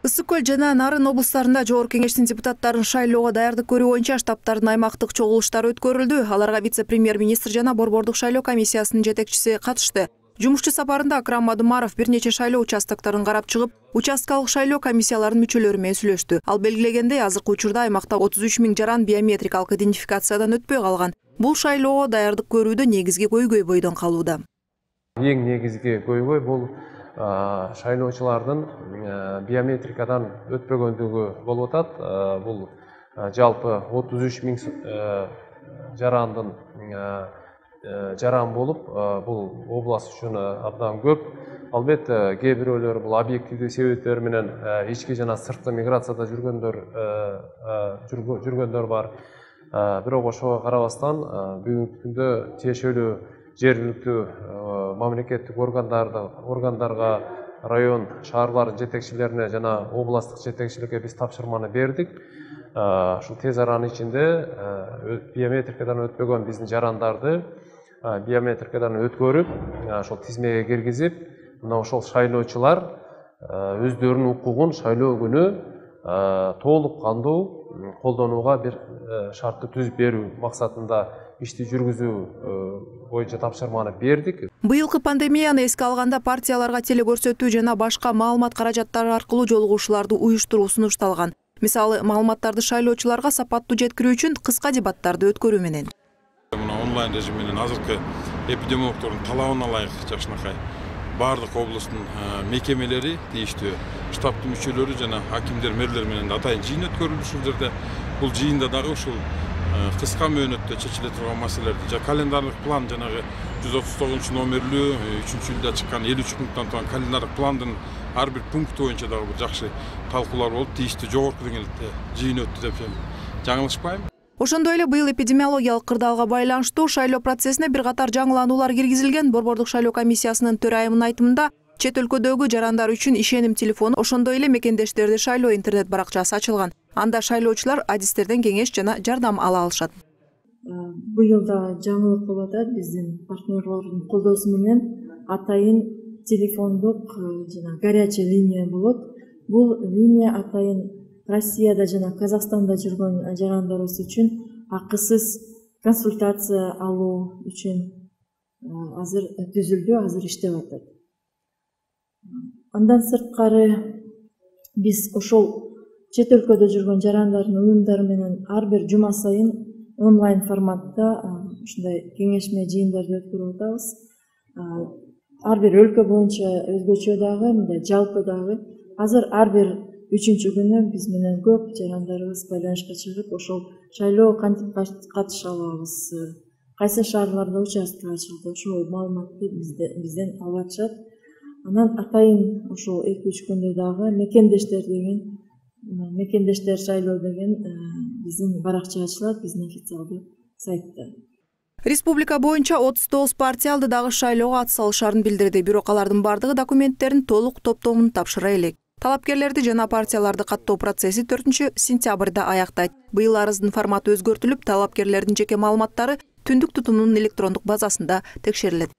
Ысык Көл жана Нарын облустарында Жогорку Кеңештин депутаттарын шайлоого даярдык көрүү боюнча штабтардын аймактык чогулуштары өткөрүлдү. Аларга вице-премьер-министр жана борбордук шайлоо комиссиясынын жетекчиси катышты. Жумушчу сапарында Акрам Мадумаров бир нече шайлоо участокторун карап чыгып, участкалык шайлоо комиссияларынын мүчөлөрү менен сүйлөштү. Ал белгилегендей, азыркы учурда аймакта 33 000 жаран биометрикалык идентификациядан өтпөй калган. Бул шайлоого даярдык көрүүдө негизги көйгөй калууда. Эң негизги көйгөй бул шайлоочулардын биометрикадан өтпөгөндүгү болуп атат. Бул жалпы 33 000 жарандын жаран болуп, бул область үчүн абдан көп. Албетте, кээ бирөөлөр бул объективдүү себептер менен ички жана сырткы миграцияда жүргөндөр бар. Бирок ошого карабастан бүгүнкү күндө тиешелүү жергиликтүү мамлекеттик органдарга, район, шаарлардын жетекчилерине жана областтык жетекчиликке биз тапшырманы бердик. Ушул тез аранын ичинде биометрикадан өтпөгөн биздин жарандарды биометрикадан өткөрүп, ошол тизмеге киргизип, мына ошол шайлоочулар өздөрүнүн укугун шайлоо күнү толук кандуу колдонууга бир шартты түзүп берүү максатында ишти жүргүзүү боюнча тапшырманы бердик. Быйылкы пандемияны эске алганда партияларга телекөрсөтүү жана башка маалымат каражаттары аркылуу жолугушууларды уюштуруу сунушталган. Мисалы, маалыматтарды шайлоочуларга сапаттуу жеткирүү үчүн кыска дебаттарды өткөрүү менен. Мына онлайн режим менен азыркы эпидемиологдордун талабына ылайык жакшынакай баардык облустун мекемелери, тийиштүү штабтын мүчөлөрү жана акимдер, мэрлер менен атайын жыйын өткөрүлүп, ушул жерде бул жыйында дагы ушул кыска мөөнөттө чечиле турган маселелерди жана календарлык план, жанагы 139 номерлүү 3-июлда чыккан 53 пункттан турган календарлык пландын ар бир пункту боюнча дагы бир жакшы талкуулар болуп, тийиштүү жогорку деңгээлде жыйын өттү деп жаңылышпайм. Ошондой эле быйыл эпидемиологиялык кырдаалга байланыштуу шайлоо процессине бир катар жаңылануулар киргизилген. Борбордук шайлоо комиссиясынын төрайымынын айтымында, чет өлкөдөгү жарандар үчүн ишеним телефону, ошондой эле мекендештерде шайлоо интернет баракчасы ачылган. Анда шайлоочулар адистерден кеңеш жана жардам ала алышат. Быйыл да жаңылык болуп атат. Биздин партнерлордун колдоосу менен атайын телефондук жана горячая линия болот. Бул линия атайын Россияда жана Казакстанда жүргөн жарандарыбыз үчүн акысыз консультация алуу үчүн азыр түзүлдү, азыр иштеп атат. Андан сырткары биз ошол чет өлкөдө жүргөн жарандардын уюмдары менен ар бир жума сайын онлайн форматта ушундай кеңешме жыйындарды өткөрүп атабыз. Ар бир өлкө боюнча өзгөчө дагы, мындай жалпы дагы. Азыр ар бир 3-чү күнү биз менен көп жарандарыбыз байланышка чыгып, ошол шайлоо кантип катыша алабыз, кайсы шаарларда участок ачылды, ошол маалыматты бизден алып атышат. Анан атайын ошол 2-3 күндө дагы мекендештер шайлоо деген биздин баракча ачылат, биздин официалдуу сайтта. Республика боюнча 39 партия алды дагы шайлоого ат салышарын билдирди. Бирок алардын бардыгы документтерин толук топтомун тапшыра элек. Талапкерлерди жана партияларды каттоо процесси 4-сентябрда аяктайт. Быйыл арыздын форматы өзгөртүлүп, талапкерлердин жеке маалыматтары түндүк тутумунун электрондук базасында текшерилет.